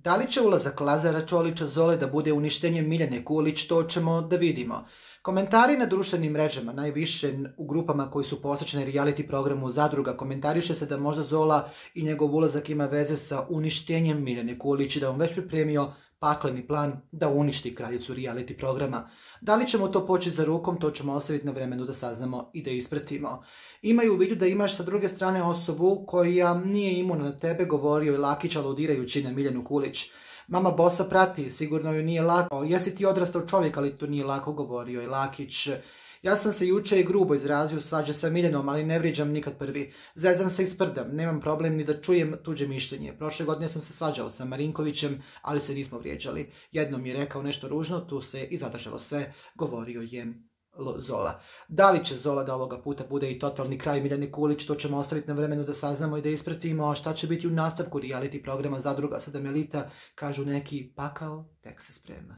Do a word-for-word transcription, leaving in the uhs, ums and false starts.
Da li će ulazak Lazara Čolića Zole da bude uništenje Miljane Kulić, to ćemo da vidimo. Komentari na društvenim mrežama, najviše u grupama koji su posvećene reality programu Zadruga, komentariše se da možda Zola i njegov ulazak ima veze sa uništenjem Miljane Kulić i da on već pripremio pakleni plan da uništi kraljicu reality programa. Da li ćemo to poći za rukom, to ćemo ostaviti na vremenu da saznamo i da ispratimo. Imaju u vidu da imaš sa druge strane osobu koja nije imuna na tebe, govorio je Lakić aludirajući na Miljanu Kulić. Mama bossa prati, sigurno joj nije lako. Jesi ti odrastao čovjek, ali to nije lako, govorio je Lakić. Ja sam se juče i grubo izrazio, svađa sa Miljanom, ali ne vrijeđam nikad prvi. Zezam se i sprdam, nemam problem ni da čujem tuđe mišljenje. Prošle godine sam se svađao sa Marinkovićem, ali se nismo vrijeđali. Jednom je rekao nešto ružno, tu se i zadržalo sve, govorio je Zola. Da li će Zola da ovoga puta bude i totalni kraj Miljane Kulić, to ćemo ostaviti na vremenu da saznamo i da ispratimo. A šta će biti u nastavku reality programa Zadruga sedam elita, kažu neki, pakao tek se sprema.